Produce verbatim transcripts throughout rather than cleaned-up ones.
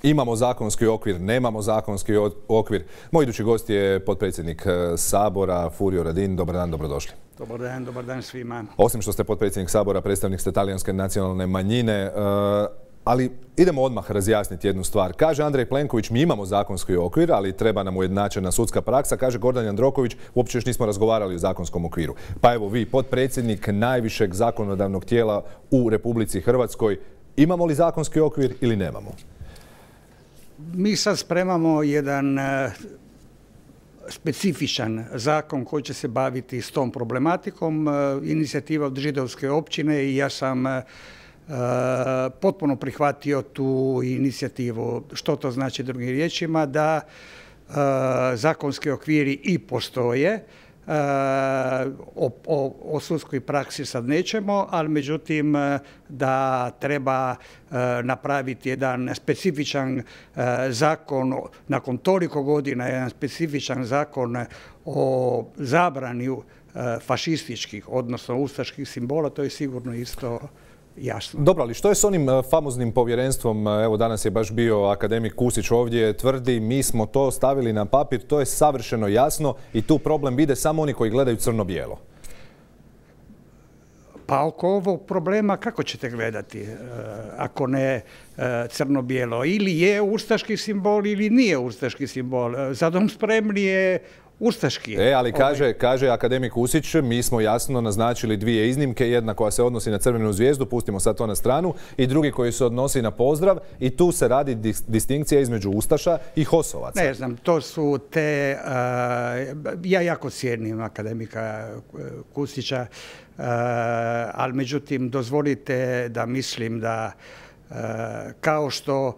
Imamo zakonski okvir, nemamo zakonski okvir. Moj idući gost je potpredsjednik Sabora, Furio Radin. Dobar dan, dobrodošli. Dobar dan, dobar dan svima. Osim što ste potpredsjednik Sabora, predstavnik ste talijanske nacionalne manjine, ali idemo odmah razjasniti jednu stvar. Kaže Andrej Plenković, mi imamo zakonski okvir, ali treba nam ujednačena sudska praksa. Kaže Gordan Jandroković, uopće još nismo razgovarali o zakonskom okviru. Pa evo vi, potpredsjednik najvišeg zakonodavnog tijela u Republici Hrvatskoj, imamo li zakonski okvir ili nemamo? Mi sad spremamo jedan specifičan zakon koji će se baviti s tom problematikom. Inicijativa od židovske općine i ja sam potpuno prihvatio tu inicijativu. Što to znači drugim riječima? Da zakonski okviri i postoje. O, o, o sudskoj praksi sad nećemo, ali međutim da treba napraviti jedan specifičan zakon, nakon toliko godina jedan specifičan zakon o zabrani fašističkih, odnosno ustaških simbola, to je sigurno isto jasno. Dobro, ali što je s onim famoznim povjerenstvom? Evo, danas je baš bio akademik Kusić ovdje, tvrdi mi smo to stavili na papir, to je savršeno jasno i tu problem vide samo oni koji gledaju crno-bijelo. Pa oko ovog problema kako ćete gledati ako ne crno-bijelo? Ili je ustaški simbol ili nije ustaški simbol. Za dom spremni je ustaški. E, ali kaže, kaže akademik Kusić, mi smo jasno naznačili dvije iznimke, jedna koja se odnosi na crvenu zvijezdu, pustimo sad to na stranu, i drugi koji se odnosi na pozdrav, i tu se radi dis distinkcija između ustaša i hosovaca. Ne znam, to su te, uh, ja jako cijenim akademika Kusića, uh, ali međutim dozvolite da mislim da Uh, kao što uh,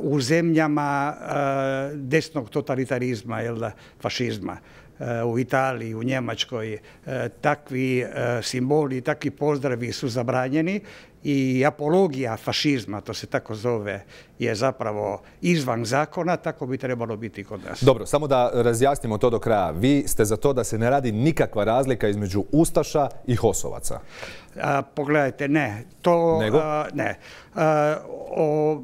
u zemljama uh, desnog totalitarizma, jel da, fašizma, uh, u Italiji, u Njemačkoj, uh, takvi uh, simboli, takvi pozdravi su zabranjeni i apologija fašizma, to se tako zove, je zapravo izvan zakona, tako bi trebalo biti kod nas. Dobro, samo da razjasnimo to do kraja. Vi ste za to da se ne radi nikakva razlika između ustaša i hosovaca? A, pogledajte, ne. To, Nego? A, ne. A, o,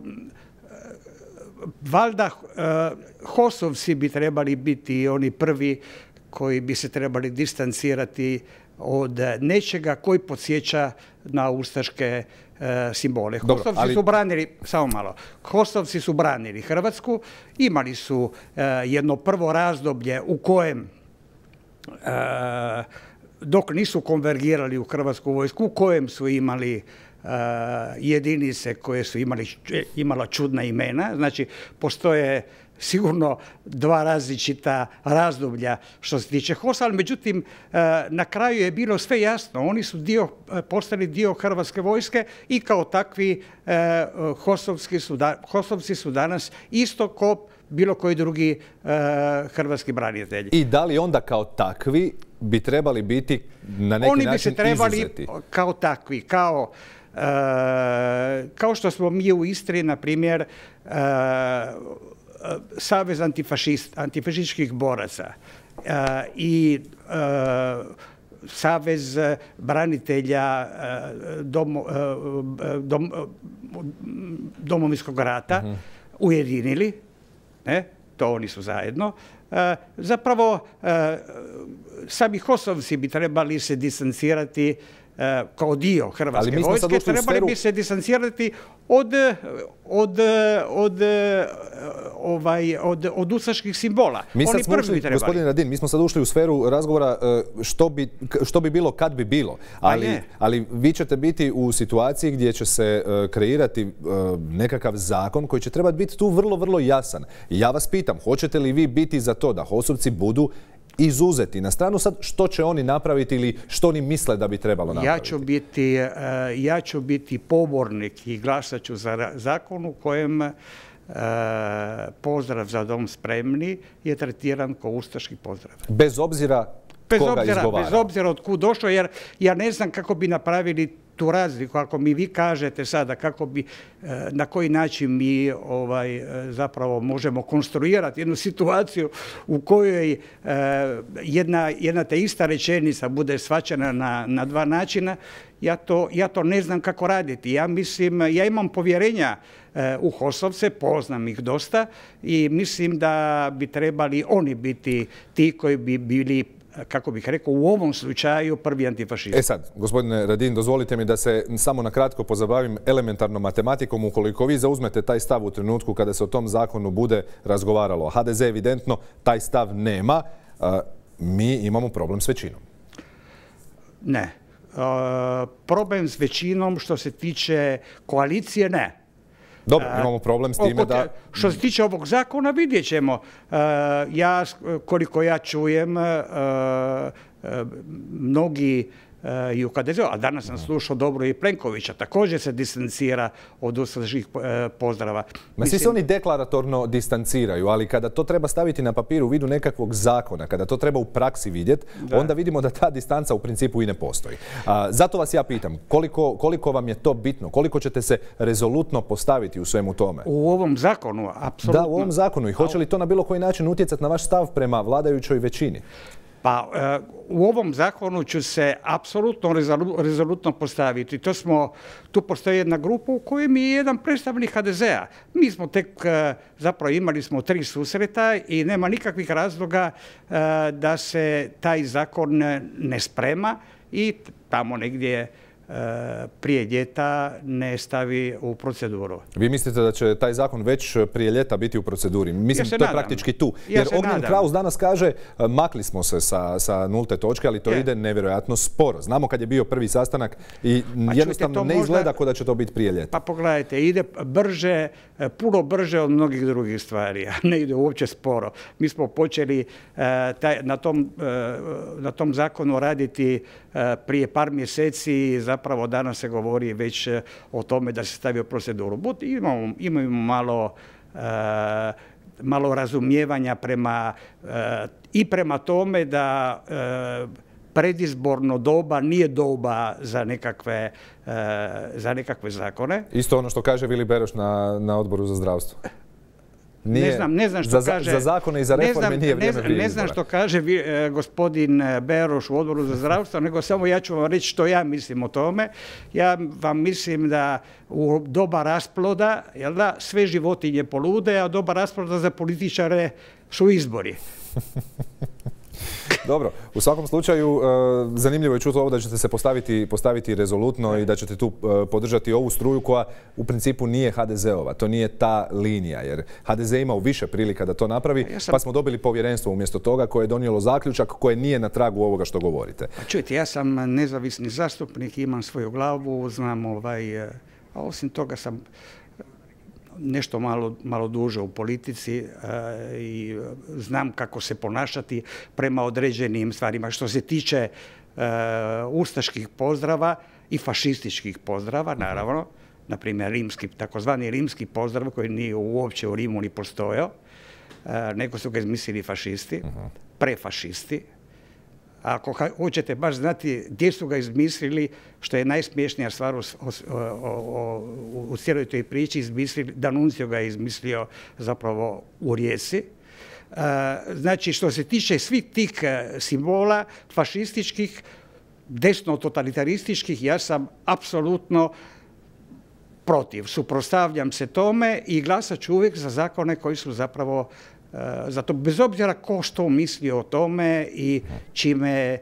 valjda a, hosovci bi trebali biti oni prvi koji bi se trebali distancirati od nečega koji podsjeća na ustaške e, simbole. Hosovci ali... su branili, samo malo, Hosovci su branili Hrvatsku, imali su e, jedno prvo razdoblje u kojem e, dok nisu konvergirali u Hrvatsku vojsku, u kojem su imali uh, jedinice koje su imali, imala čudna imena. Znači, postoje sigurno dva različita razdoblja što se tiče Hosa, ali međutim, uh, na kraju je bilo sve jasno. Oni su dio, postali dio Hrvatske vojske i kao takvi uh, Hosovski su da, Hosovci su danas isto ko bilo koji drugi uh, hrvatski branitelji. I da li onda kao takvi bi trebali biti na neki Oni način bi se trebali izuzeti? Kao takvi, kao, uh, kao što smo mi u Istri, na primjer, uh, Savez antifašist, antifašističkih boraca uh, i uh, Savez branitelja uh, domo, uh, dom, uh, Domovinskog rata uh-huh. ujedinili, ne? To oni su zajedno. Uh, zapravo, uh, sami Hosovci bi trebali se distancirati uh, kao dio Hrvatske vojske, trebali sferu... bi se distancirati od, od, od, ovaj, od, od ustaških simbola. Mi Oni smo ušli, gospodin Radin, mi smo sad ušli u sferu razgovora što bi, što bi bilo kad bi bilo. Ali, ali vi ćete biti u situaciji gdje će se kreirati nekakav zakon koji će trebati biti tu vrlo, vrlo jasan. I ja vas pitam, hoćete li vi biti za to da Hosovci budu izuzeti? Na stranu sad što će oni napraviti ili što oni misle da bi trebalo napraviti? Ja ću biti, ja ću biti pobornik i glasat ću za zakon u kojem pozdrav za dom spremni je tretiran kao ustaški pozdrav. Bez obzira bez koga obzira, izgovara? Bez obzira od kud došlo, jer ja ne znam kako bi napravili tu razliku, ako mi vi kažete sada kako bi, na koji način mi ovaj, zapravo možemo konstruirati jednu situaciju u kojoj jedna, jedna te ista rečenica bude shvaćena na, na dva načina, ja to, ja to ne znam kako raditi. Ja mislim, ja imam povjerenja u HOS-ovce, poznam ih dosta i mislim da bi trebali oni biti ti koji bi bili, kako bih rekao, u ovom slučaju prvi antifašisti. E sad, gospodine Radin, dozvolite mi da se samo na kratko pozabavim elementarnom matematikom. Ukoliko vi zauzmete taj stav u trenutku kada se o tom zakonu bude razgovaralo, ha de ze evidentno taj stav nema, mi imamo problem s većinom. Ne. Problem s većinom što se tiče koalicije, ne. Dobro, imamo problem s time da... Što se tiče ovog zakona, vidjet ćemo. Ja, koliko ja čujem, mnogi i u ha de zeu, a danas sam slušao dobro i Plenkovića, također se distancira od ustaških pozdrava. Ma svi se oni deklaratorno distanciraju, ali kada to treba staviti na papir u vidu nekakvog zakona, kada to treba u praksi vidjeti, onda vidimo da ta distanca u principu i ne postoji. A, zato vas ja pitam, koliko, koliko vam je to bitno, koliko ćete se rezolutno postaviti u svemu tome? U ovom zakonu, apsolutno. Da, u ovom zakonu. I hoće li to na bilo koji način utjecati na vaš stav prema vladajućoj većini? Pa u ovom zakonu ću se apsolutno rezolutno postaviti. To smo, tu postoji jedna grupa u kojoj mi je jedan predstavnik ha de zea. Mi smo tek, zapravo imali smo tri susreta i nema nikakvih razloga da se taj zakon ne sprema i tamo negdje prije ljeta ne stavi u proceduru. Vi mislite da će taj zakon već prije ljeta biti u proceduri? Mislim, ja to je praktički tu. Ja Jer Ognjen Kraus danas kaže makli smo se sa, sa nulte točke, ali to je. ide nevjerojatno sporo. Znamo kad je bio prvi sastanak i pa jednostavno čujte, ne izgleda možda, kao da će to biti prije ljeta. Pa pogledajte, ide brže, puno brže od mnogih drugih stvari, a ne ide uopće sporo. Mi smo počeli uh, taj, na, tom, uh, na tom zakonu raditi uh, prije par mjeseci. Zapravo danas se govori već o tome da se stavi u proceduru. But imamo, imamo malo, uh, malo razumijevanja prema, uh, i prema tome da uh, predizborno doba nije doba za nekakve, uh, za nekakve zakone. Isto ono što kaže Vili Beroš na, na Odboru za zdravstvo. Nije, ne znam, ne znam što za, kaže, za zakone i za reforme ne znam, nije vrijeme ne znam, ne znam što kaže vi, eh, gospodin Beroš u Odboru za zdravstvo, nego samo ja ću vam reći što ja mislim o tome. Ja vam mislim da u doba rasploda, jel da, sve životinje polude, a doba rasploda za političare su izbori. Dobro, u svakom slučaju zanimljivo je čuti ovo da ćete se postaviti, postaviti rezolutno i da ćete tu podržati ovu struju koja u principu nije ha de zeova. To nije ta linija jer ha de ze imao više prilika da to napravi, ja sam... pa smo dobili povjerenstvo umjesto toga koje je donijelo zaključak koje nije na tragu ovoga što govorite. Pa čujte, ja sam nezavisni zastupnik, imam svoju glavu, znam ovaj, a osim toga sam nešto malo, malo duže u politici uh, i znam kako se ponašati prema određenim stvarima. Što se tiče uh, ustaških pozdrava i fašističkih pozdrava, naravno, na primjer rimski, takozvani rimski pozdrav koji nije uopće u Rimu ni postojao, uh, nego su ga izmislili fašisti, uh-huh. prefašisti. Ako hoćete baš znati gdje su ga izmislili, što je najsmiješnija stvar u, o, o, u, u cijeloj toj priči, izmislili, D'Annunzio ga je izmislio zapravo u Rijeci. E, znači, što se tiče svih tih simbola fašističkih, desno-totalitarističkih, ja sam apsolutno protiv. Suprotstavljam se tome i glasat ću uvijek za zakone koji su zapravo zato bez obzira ko što misli o tome i čime,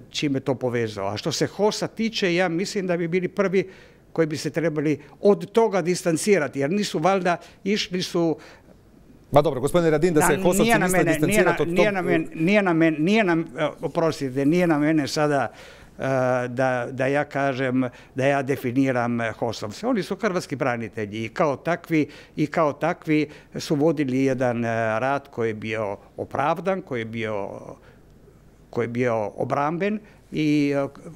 čime to povezao. A što se HOS-a tiče, ja mislim da bi bili prvi koji bi se trebali od toga distancirati, jer nisu valjda išli su... Ma dobro, gospodine Radin, da se HOS-ovci misle distancirati od toga... Nije na mene, nije na, oprostite, nije na mene sada Da, da ja kažem, da ja definiram HOS-ovce. Oni su hrvatski branitelji i kao takvi, i kao takvi su vodili jedan rat koji je bio opravdan, koji je bio, koji je bio obramben i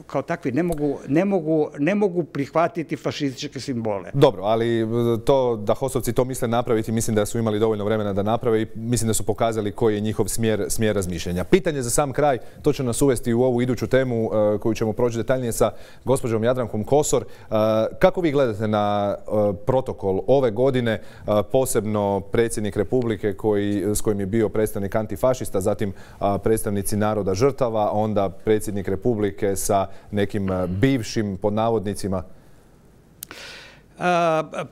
kao takvi ne mogu, ne mogu, ne mogu prihvatiti fašističke simbole. Dobro, ali to da HOS-ovci to misle napraviti, mislim da su imali dovoljno vremena da naprave i mislim da su pokazali koji je njihov smjer, smjer razmišljanja. Pitanje za sam kraj, to će nas uvesti u ovu iduću temu uh, koju ćemo proći detaljnije sa gospođom Jadrankom Kosor. Uh, kako vi gledate na uh, protokol ove godine, uh, posebno predsjednik Republike koji, s kojim je bio predstavnik antifašista, zatim uh, predstavnici naroda žrtava, onda predsjednik Republike sa nekim uh, bivšim pod navodnicima? Uh,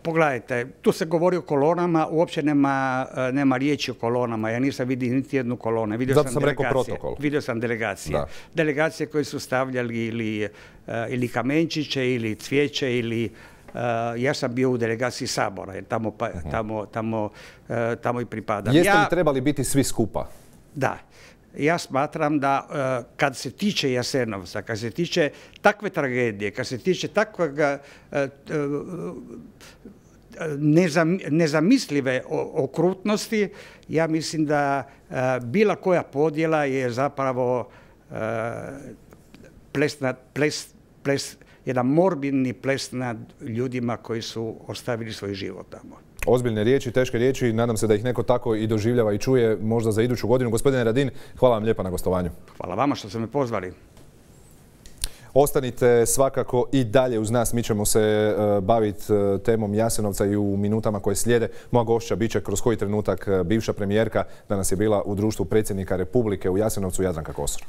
pogledajte, tu se govori o kolonama, uopće nema, nema riječi o kolonama. Ja nisam vidio niti jednu kolonu. Vidio Zato sam, sam rekao protokol. Vidio sam delegacije. Da. Delegacije koje su stavljali ili, uh, ili kamenčiće, ili cvijeće, ili uh, ja sam bio u delegaciji Sabora, jer tamo, pa, uh-huh. tamo, tamo, uh, tamo i pripadam. Jeste ja, li trebali biti svi skupa? Da. Ja smatram da uh, kad se tiče Jasenovca, kad se tiče takve tragedije, kad se tiče takvog uh, uh, nezam, nezamislive okrutnosti, ja mislim da uh, bila koja podjela je zapravo uh, ples nad, ples, ples, jedan morbidni ples nad ljudima koji su ostavili svoj život tamo. Ozbiljne riječi, teške riječi, nadam se da ih neko tako i doživljava i čuje možda za iduću godinu. Gospodine Radin, hvala vam lijepa na gostovanju. Hvala vama što ste me pozvali. Ostanite svakako i dalje uz nas, mi ćemo se uh, baviti uh, temom Jasenovca i u minutama koje slijede. Moja gošća bit će kroz koji trenutak uh, bivša premijerka, danas je bila u društvu predsjednika Republike u Jasenovcu, Jadranka Kosor.